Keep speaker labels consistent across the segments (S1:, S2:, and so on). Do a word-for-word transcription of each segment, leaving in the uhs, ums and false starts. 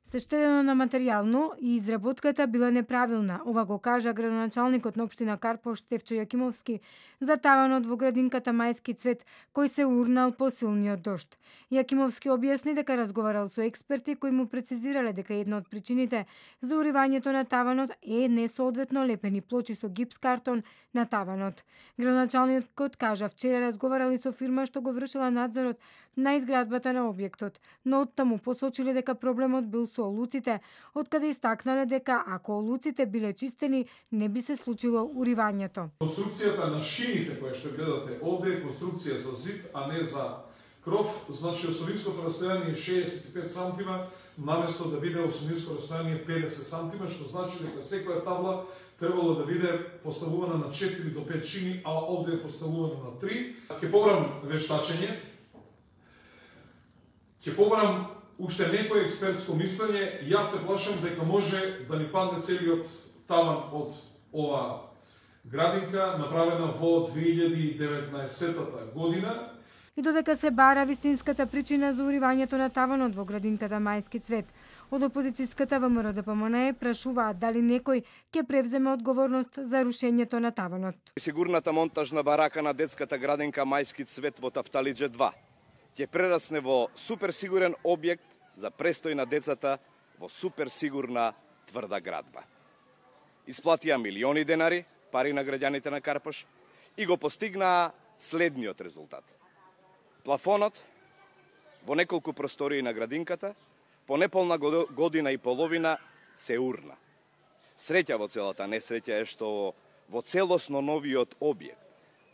S1: се штедено на материјално и изработката била неправилна. Ова го кажа градоначалникот на општина Карпош Стефчо Јакимовски за таванот во градинката Мајски цвет, кој се урнал по силниот дожд. Јакимовски објасни дека разговарал со експерти кои му прецизирале дека една од причините за уривањето на таванот е несоодветно лепени плочи со гипс картон на таванот. Градоначалникот кажа вчера разговарали со фирма што го вршила надзорот на изградбата на објектот, но оттаму посочиле дека проблемот бил со олуците, откаде истакнале дека ако олуците биле чистени, не би се случило уривањето.
S2: Конструкцијата на шините која што гледате овде е конструкција за зид, а не за кров, значи осовинското растојание е шеесет и пет сантима, наместо да биде осовинско растојание педесет сантима, што значи дека секоја табла требало да биде поставувана на четири до пет шини, а овде е поставувано на три. Ќе побрам вештачење, ќе побрам уште некој експертско мислење. Јас се плашам дека може да ни падне целиот таван од ова градинка, направена во две илјади и деветнаесетта година.
S1: И додека се бара вистинската причина за уривањето на таванот во градинката Мајски цвет, од опозицијската ВМРО-ДПМНЕ прашуваат дали некој ќе превземе одговорност за рушењето на таванот.
S3: Сигурната монтажна барака на детската градинка Мајски цвет во Тафталиџе два ќе прерасне во суперсигурен објект за престој на децата во суперсигурна тврда градба. Исплатија милиони денари, пари на граѓаните на Карпош, и го постигнаа следниот резултат. Плафонот во неколку простории на градинката по неполна година и половина се урна. Среќа во целата несреќа е што во целосно новиот објект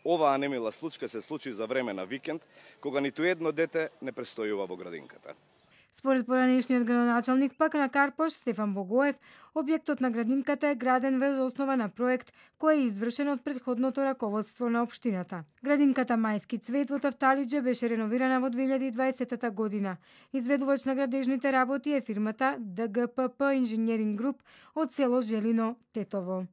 S3: оваа немила случка се случи за време на викенд, кога ниту едно дете не престојува во градинката.
S1: Според поранешниот градоначалник пак на Карпош, Стефан Богоев, објектот на градинката е граден врз основа на проект кој е извршен од претходното раководство на општината. Градинката Мајски цвет во Тафталиџе беше реновирана во две илјади и дваесетта година. Изведувач на градежните работи е фирмата ДГПП Инженеринг Груп од село Желино, Тетово.